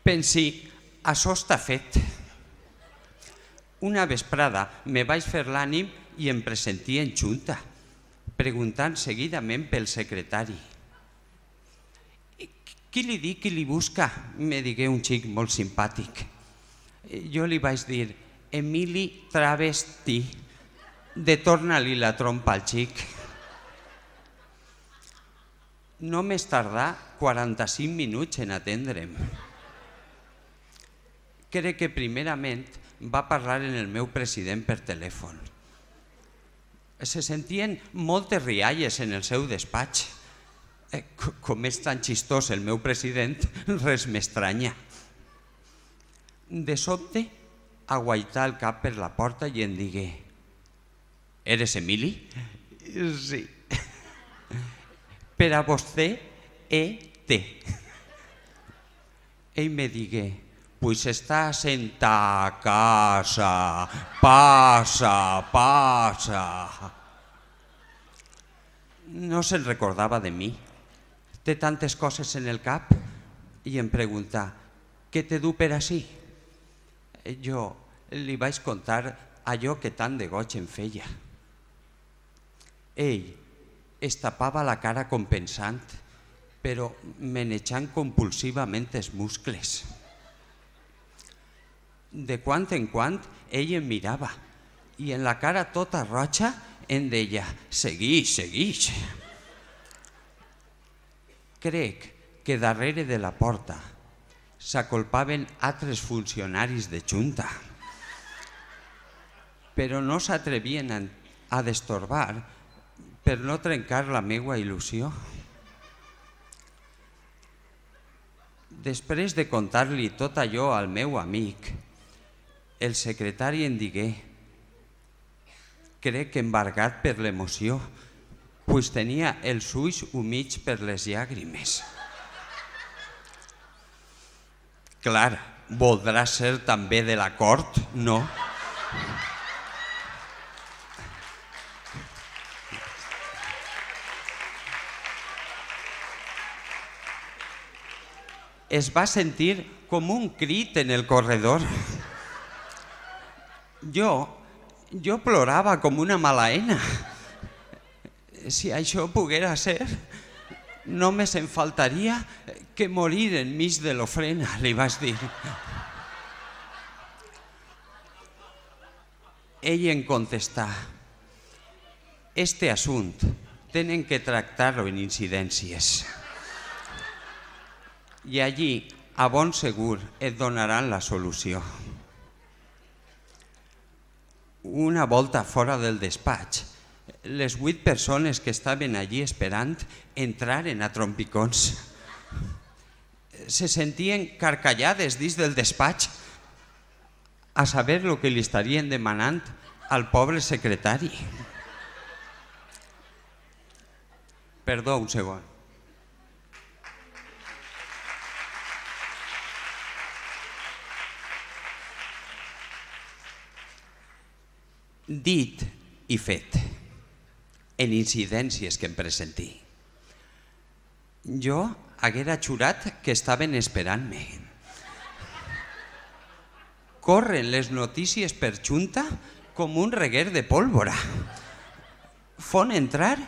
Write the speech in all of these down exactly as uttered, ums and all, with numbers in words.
Pensi, això està fet. Una vesprada me vaig fer l'ànim i em presentí en junta, preguntant seguidament pel secretari. Qui li dic qui li busca? Me digué un xic molt simpàtic. Jo li vaig dir, Emili Travesti, de torna-li la trompa al xic. No més tardà quaranta-cinc minuts en atendre'm. Crec que primerament va parlar en el meu president per telèfon. Se sentien moltes rialles en el seu despatx. Com és tan xistós el meu president, res m'estranya. De sobte, aguaità el cap per la porta i em digué, «Eres Emili?» «Sí». «Per a vostè, E T». Ell me digué, «Pues estàs en ta casa, passa, passa». No se'n recordava de mi. Té tantes coses en el cap i em pregunta, «Què te du per ací?» Jo li vaig contar allò que tant de goig em feia. Ell es tapava la cara com pensant, però menejant compulsivament els muscles. De quan en quan ell em mirava i en la cara tota roja em deia, «Seguix, seguix». Crec que darrere de la porta s'acolpaven altres funcionaris de junta, però no s'atrevien a destorbar per no trencar la meua il·lusió. Després de contar-li tot allò al meu amic, el secretari em digué, crec que embargat per l'emoció, pues tenia els ulls humits per les llàgrimes. Clar, voldrà ser també de la cort, no? Es va sentir com un crit en el corredor. Jo, jo plorava com una malaena. Si això poguera ser, només em faltaria que morir enmig de l'ofrena, li vaig dir. Ell em contestà, «Este assunt tenen que tractar-lo en incidències i allí, a bon segur, et donaran la solució». Una volta fora del despatx, les vuit persones que estaven allí esperant entraren a trompicons. Se sentien carcallades dins del despatx a saber el que li estarien demanant al pobre secretari. Perdó, un segon. Dit i fet, en incidències que em presentí. Jo haguera jurat que estaven esperant-me. Corren les notícies per junta com un reguer de pólvora. Fon entrar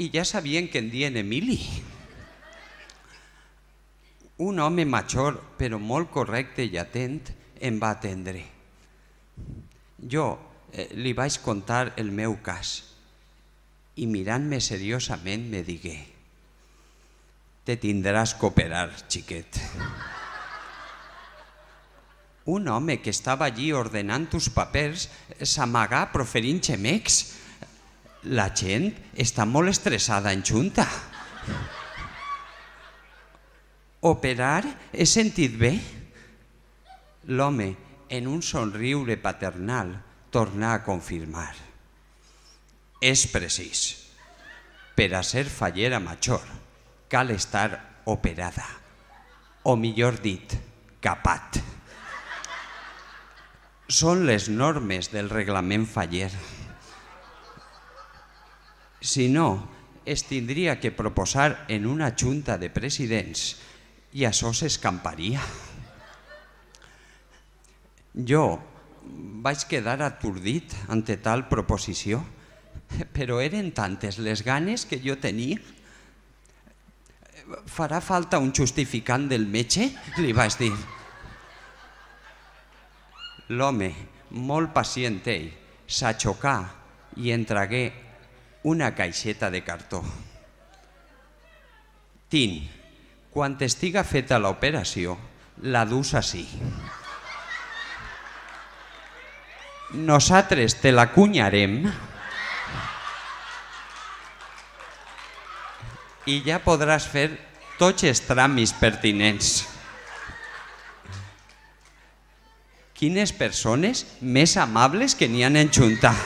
i ja sabien que en dien Emili. Un home major, però molt correcte i atent, em va atendre. Jo li vaig contar el meu cas i mirant-me seriosament me digué, «Te tindràs que operar, xiquet». Un home que estava allí ordenant uns papers s'amagà proferint xemecs. La gent està molt estressada en junta. «Operar? He sentit bé?» L'home, en un somriure paternal, tornà a confirmar. És precís. Per a ser fallera major cal estar operada, o millor dit, capat. Són les normes del reglament faller. Si no, es tindria que proposar en una junta de presidents i això s'escamparia. Jo vaig quedar atordit ante tal proposició, però eren tantes les ganes que jo tenia. Farà falta un justificant del metge? Li vaig dir. L'home, molt pacient ell, s'aixocà i entregué una caixeta de cartó. Tin, quan estiga feta l'operació, la dus ací. Nosaltres te la cunyarem i ja podràs fer tots els tràmits pertinents. Quines persones més amables que n'hi han enjuntat.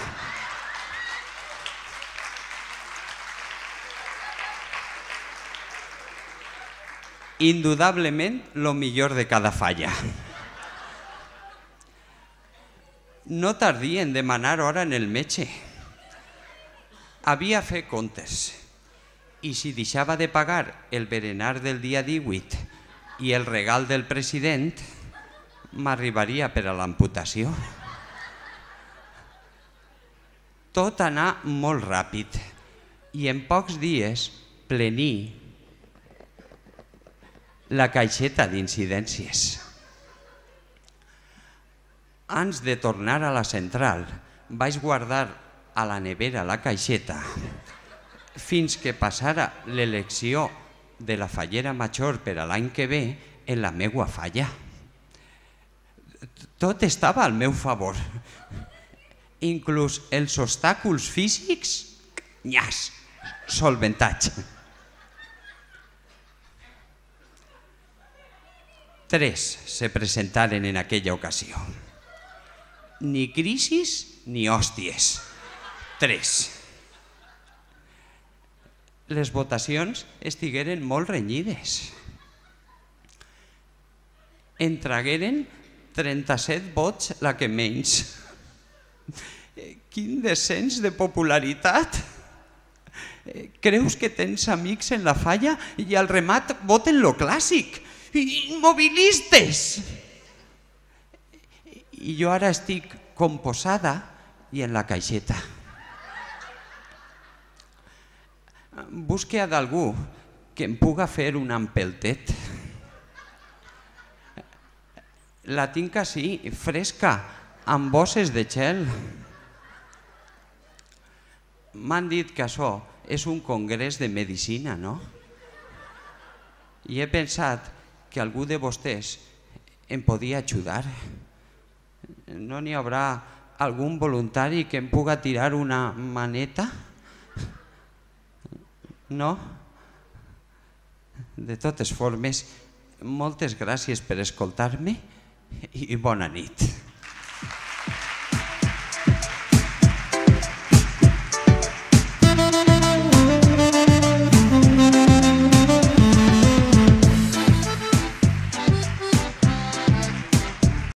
Indudablement, lo millor de cada falla. No tardí en demanar hora en el metge. Havia fet comptes i si deixava de pagar el berenar del dia divuit i el regal del president, m'arribaria per a l'amputació. Tot anà molt ràpid i en pocs dies plení la caixeta d'incidències. Abans de tornar a la central, vaig guardar a la nevera la caixeta fins que passara l'elecció de la fallera major per a l'any que ve en la meua falla. Tot estava al meu favor, inclús els obstacles físics, nyas, solventats. Tres se presentaren en aquella ocasió. Ni crisis ni hòsties. Tres. Les votacions estigueren molt renyides. Entregueren trenta-set vots la que menys. Quin descens de popularitat! Creus que tens amics en la falla i al remat voten lo clàssic. Immobilistes! I jo ara estic composada i en la caixeta. Busque a d'algú que em puga fer un empeltet. La tinc així, fresca, amb bosses de gel. M'han dit que això és un congrés de medicina, no? I he pensat que algú de vostès em podia ajudar. No n'hi haurà algun voluntari que em puga tirar una maneta? No? De totes formes, moltes gràcies per escoltar-me i bona nit.